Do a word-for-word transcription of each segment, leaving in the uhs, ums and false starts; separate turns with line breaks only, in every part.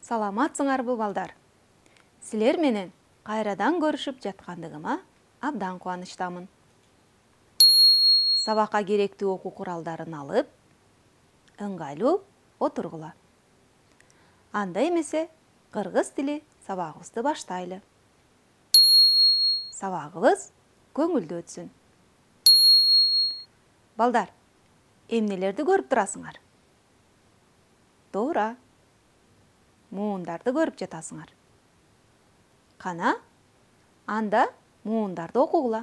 Саламатсыңарбы балдар? Силер менен кайрадан көрүшүп жаткандыгыма абдан кубанычтамын. Сабакка керектүү окуу куралдарын алып, ыңгайлуу отургула. Анда эмесе кыргыз тили сабагыбызды баштайлы. Сабагыбыз көңүлдүү өтсүн. Балдар, эмнелерди көрүп турасыңар? Туура. Муундарды көрүп жатасыңар. Кана, анда муундарды окугула.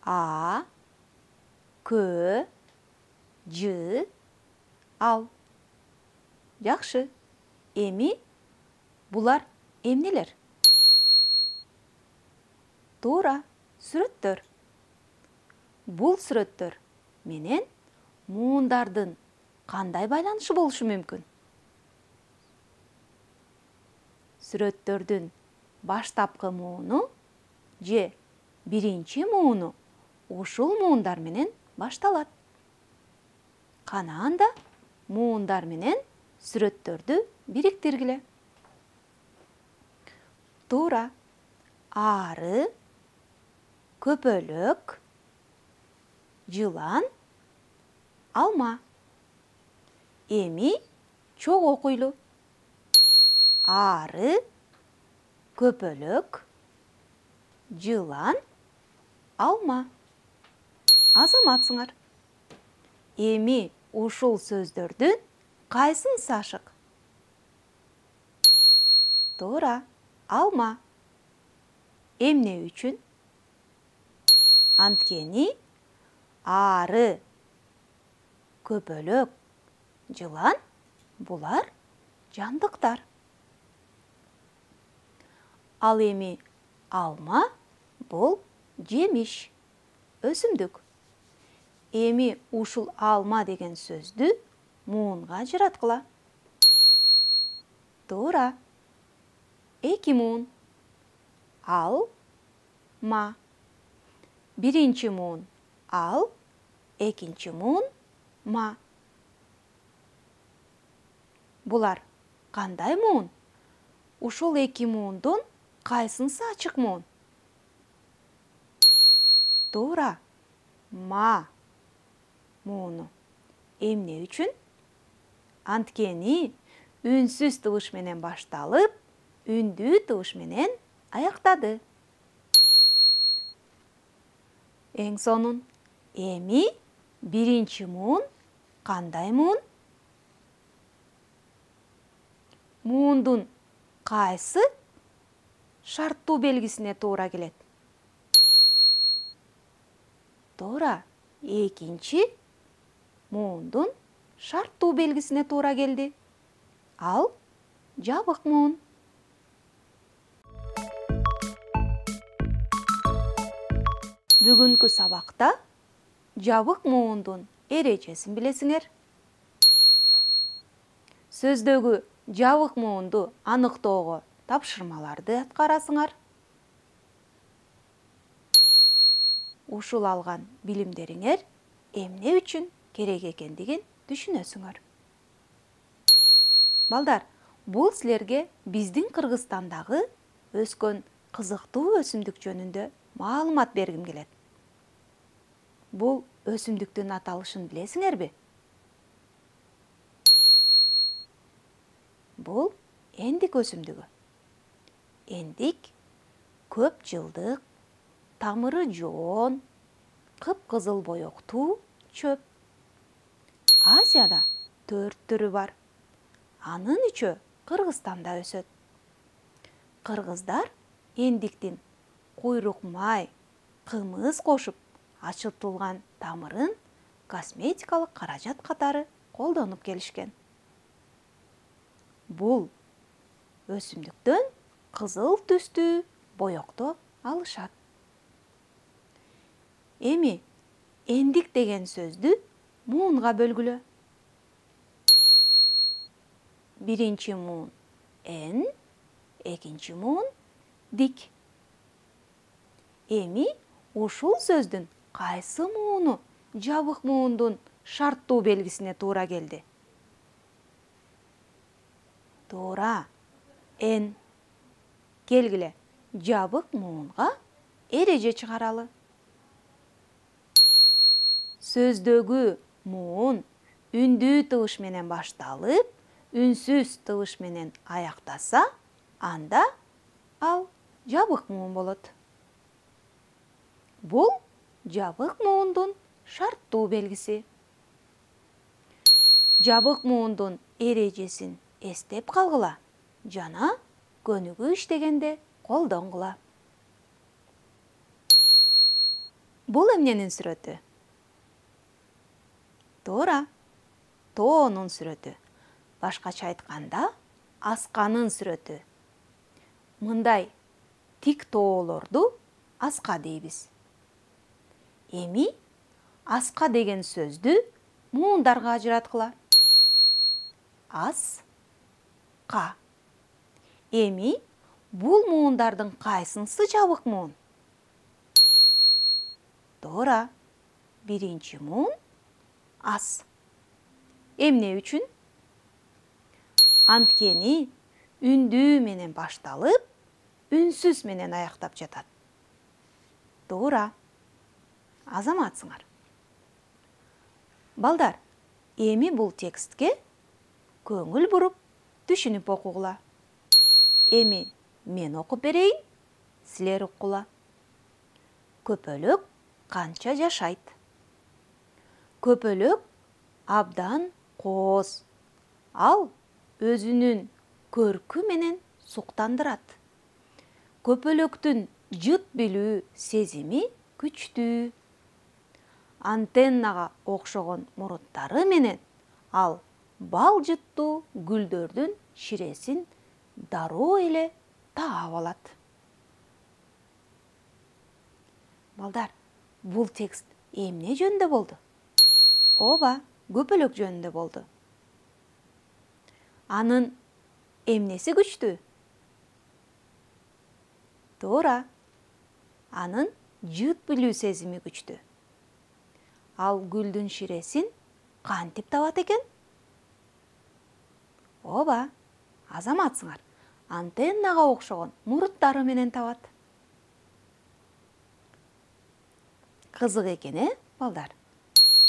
А, кө, жы, ал. Жакшы. Эми булар эмнелер? Туура, сүрөттөр. Бул сүрөттөр менен муундардын кандай байланышы болушу мүмкүн? Сүрөттөрдүн баштапкы мууну же биринчи мууну ушул муундар менен башталат. Кана анда муундар менен сүрөттөрдү бириктиргиле. Туура. Ары, көпөлөк, жылан, алма. Эми чогуу окуйлу. Ары, көпөлөк, жылан, алма. Азаматсыңар. Эми ушул сөздөрдүн кайсынысы ашык? Туура, алма. Эмне үчүн? Анткени ары, көпөлөк, жылан булар жандыктар. Ал эми алма бул жемиш, өсүмдүк. Эми ушул алма деген сөздү муунга ажыраткыла. Туура. Эки муун. Ал, ма. Биринчи муун ал, экинчи муун ма. Булар кандай муун? Ушул эки муундун кайсынысы ачык муун? Туура. Ма мууну. Эмне үчүн? Анткени үнсүз табыш менен башталып, үндүү табыш менен аяктады. Эң сонун. Эми биринчи муун кандай муун? Муундун кайсы шарттуу белгисине туура келет? Туура. Экинчи муундун шарттуу белгисине туура келди. Ал жабык муун. Бүгүнкү сабакта жабык муундун эрежесин билесиңер. Сөздөгү жабык муунду аныктоого тапшырмаларды аткарасыңар. Ушул алган билимдериңер эмне үчүн керек экендигин түшүнөсүңөр. Балдар, бул силерге биздин Кыргызстандагы өскөн кызыктуу өсүмдүк жөнүндө маалымат бергим келет. Бул өсүмдүктүн аталышын билесиңерби? Бул эндик өсүмдүгү. Эндик көп жылдык, тамыры жоон, кыпкызыл боектуу чөп. Азияда төрт түрү бар. Анын үчөө Кыргызстанда өсөт. Кыргыздар эндиктин куйрук май, кымыз кошуп ачытылган тамырын косметикалык каражат катары колдонуп келишкен. Бул өсүмдүктөн кызыл түстүү боекту алышат. Эми эндик деген сөздү муунга бөлгүлө. Биринчи муун эн, экинчи муун дик. Эми ушул сөздүн кайсы мууну жабык муундун шарттуу белгисине туура келди? Туура. Н. Келгиле, жабык муунга эреже чыгаралы. Сөздөгү муун үндүү тыбыш менен башталып, үнсүз тыбыш менен аяктаса, анда ал жабык муун болот. Бул жабык муундун шарттуу белгиси. Жабык муундун эрежесин эстеп калгыла жана көнүгүү иштегенде колдонгула. Бул эмненин сүрөтү? Туура. Тоонун сүрөтү. Башкача айтканда, асканын сүрөтү. Мындай тик тоолорду аска дейбиз. Эми аска деген сөздү муундарга ажыраткыла. Ас, ка. Эми бул муундардын кайсынысы жабык муун? Туура. Биринчи муун ас. Эмне үчүн? Анткени үндүү менен башталып, үнсүз менен аяктап жатат. Туура. Азаматсыңар. Балдар, эми бул текстке көңүл буруп, түшүнүп окугула. Эми мен окуп берейин, силер уккула. Көпөлөк канча жашайт? Көпөлөк абдан кооз. Ал өзүнүн көркү менен суктандырат. Көпөлөктүн жыт билүү сезими күчтүү. Антеннага окшогон муруттары менен ал бал жыттуу гүлдөрдүн ширесин дароо эле таап алат. Балдар, бул текст эмне жөнүндө болду? Ооба, көпөлөк жөнүндө болду. Анын эмнеси күчтүү? Туура. Анын жыт билүү сезими күчтүү. Ал гүлдүн ширесин кантип табат экен? Ооба, азаматсыңар. Антеннага окшогон муруттары менен табат. Кызык экен, э, балдар?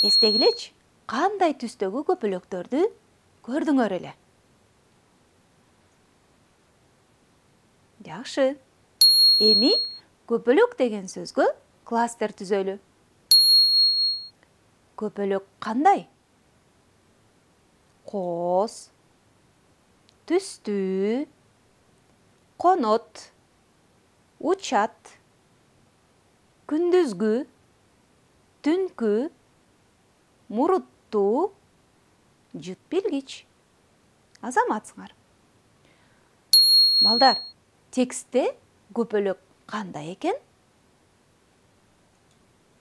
Эстегилечи, кандай түстөгү көпөлөктөрдү көрдүңөр эле? Жакшы. Эми көпөлөк деген сөзгө кластер түзөлү. Көпөлөк кандай? Кооз, түстүү, конот, учат, күндүзгү, түнкү, муруттуу, жыт билгич. Азаматсыңар. Балдар, текстте көпөлөк кандай экен?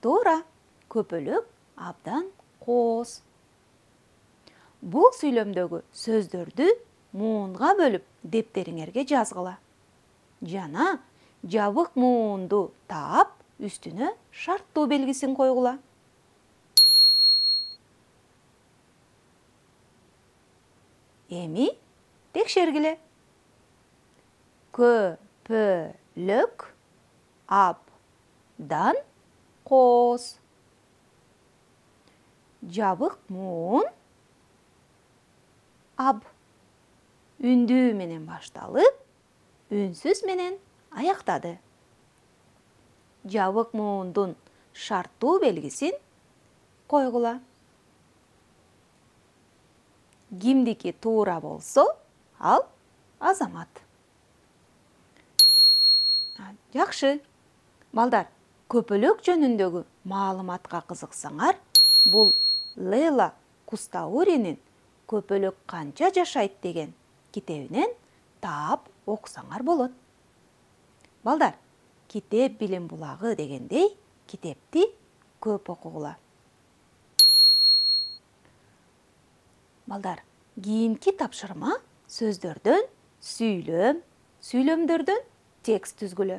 Туура, көпөлөк абдан кооз. Бул сүйлөмдөгү сөздөрдү муунга бөлүп дептериңерге жазгыла. Жана жабык муунду таап, үстүнө шарттуу белгисин койгула. Эми текшергиле. Көпөлөк абдан кооз. Жабык муун аб. Үндүү менен башталып, үнсүз менен аяктады. Жабык муундун шарттуу белгисин койгула. Кимдики туура болсо, ал азамат. Жакшы. Балдар, көпөлөк жөнүндөгү маалыматка кызыксаңар, бул Лейла Кустауринин «Көпөлөк канча жашайт» деген китебинен таап окусаңар болот. Балдар, китеп билим булагы дегендей, китепти көп окугула. Балдар, кийинки тапшырма сөздөрдөн сүйлөм, сүйлөмдөрдөн текст түзгүлө.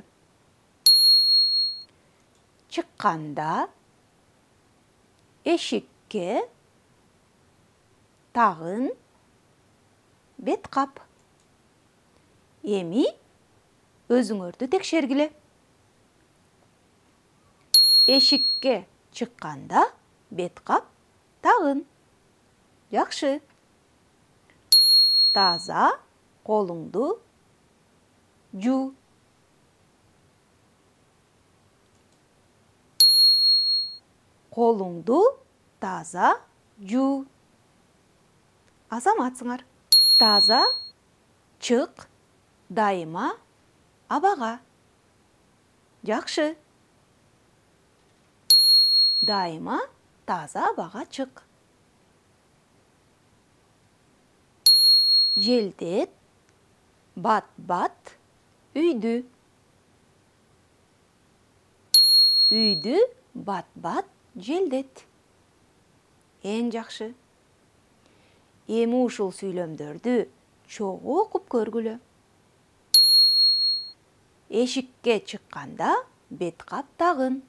Чыкканда, эшикке, тагын, бет кап. Эми өзүңөрдү текшергиле. Эшикке чыкканда бет кап тагын. Жакшы. Таза колуңду жуу. Колуңду таза жуу. Азаматсыңар. Таза чык дайыма абага. Жакшы. Дайыма таза абага чык. Желдет бат-бат үйдү. Үйдү бат-бат желдет. Эң жакшы. Эми ушул сүйлөмдөрдү чогуу окуп көргүлө. Эшикке чыкканда бет кап тагын.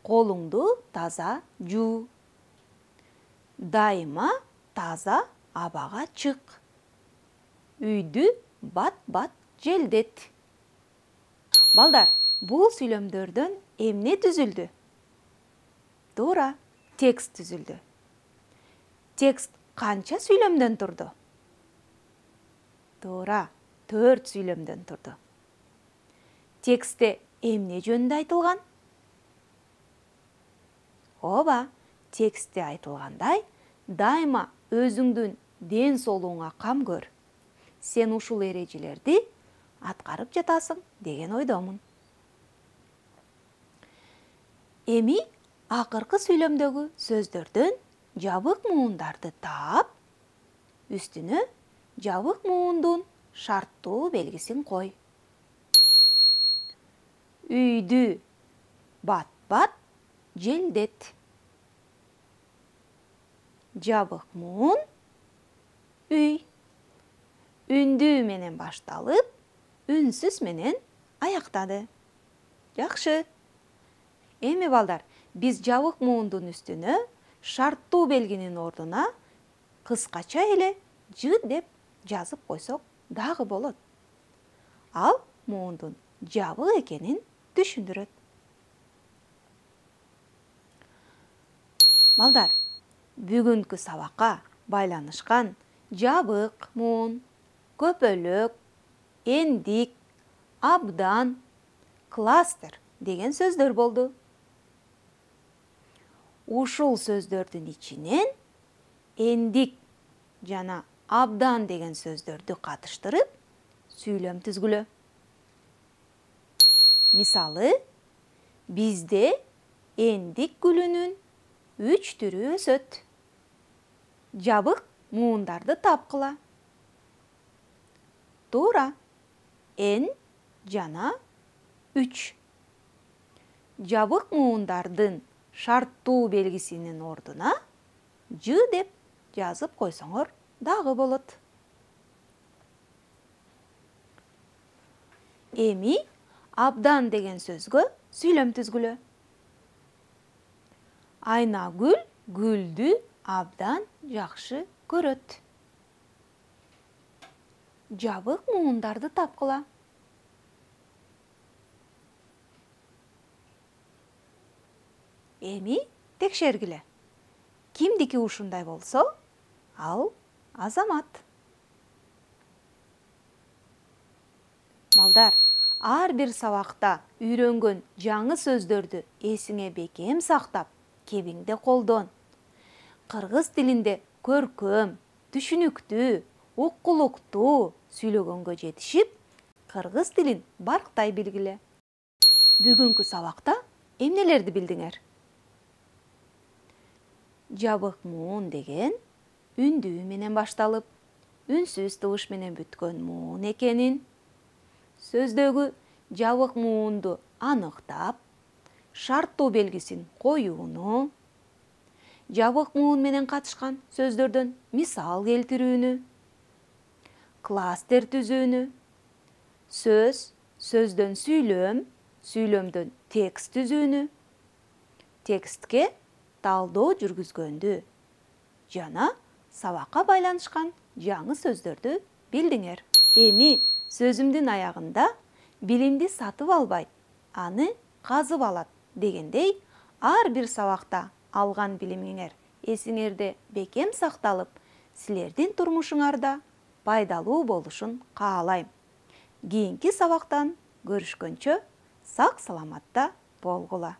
Колуңду таза жуу. Дайыма таза абага чык. Үйдү бат-бат желдет. Балдар, бул сүйлөмдөрдөн эмне түзүлдү? Туура, текст түзүлдү. Текст канча сүйлөмдөн турду? Туура, төрт сүйлөмдөн турду. Текстте эмне жөнүндө айтылган? Ооба, текстте айтылгандай, дайыма өзүңдүн ден соолугуңа кам көр. Сен ушул эрежелерди аткарып жатасың деген ойдомун. Эми акыркы сүйлөмдөгү сөздөрдөн жабык муундарды таап, үстүнө жабык муундун шарттуу белгисин кой. Үйдү бат-бат желдет. Жабык муун үй. Үндүү менен башталып, үнсүз менен аяктады. Жакшы. Эми балдар, биз жабык муундун үстүнө шарттуу белгинин ордуна кыскача эле ж деп жазып койсок дагы болот. Ал муундун жабык экенин түшүндүрөт. Балдар, бүгүнкү сабакка байланышкан жабык муун, көпөлөк, эндик, абдан, кластер деген сөздөр болду. Ушул сөздөрдүн ичинен эндик жана абдан деген сөздөрдү катыштырып, сүйлөм түзгүлө. Мисалы, бизде эндик гүлүнүн үч түрү өсөт. Жабык муундарды тапкыла. Туура, эн жана үч. Жабык муундардын шарттуу белгисинин ордуна ж деп жазып койсоңор дагы болот. Эми абдан деген сөзгө сүйлөм түзгүлө. Айнагүл гүлдү абдан жакшы көрөт. Жабык муундарды тапкыла. Эми текшергиле. Кимдики ушундай болсо, ал Азамат. Балдар, ар бир сабакта үйрөнгөн жаңы сөздөрдү эсиңе бекем сактап, кебиңде колдон. Кыргыз тилинде көркөм, түшүнүктүү, уккулуктуу сүйлөгөнгө жетишип, кыргыз тилин барктай билгиле. Бүгүнкү сабакта эмнелерди билдиңер? Жабык муун деген үндүү менен башталып, үнсүз табыш менен бүткөн муун экенин, сөздөгү жабык муунду аныктап, шарттуу белгисин коюуну, жабык муун менен катышкан сөздөрдөн мисал келтирүүнү, кластер түзүүнү, сөз, сөздөн сүйлөм, сүйлөмдөн текст түзүүнү, текстке талдоо жүргүзгөндү жана сабакка байланышкан жаңы сөздөрдү билдиңер. Эми сөзүмдүн аягында билимди сатып албайт, аны казып алат дегендей, ар бир сабакта алган билимиңер эсиңерде бекем сакталып, силердин турмушуңарда пайдалуу болушун каалайм. Кийинки сабактан көрүшкөнчө сак саламатта болгула.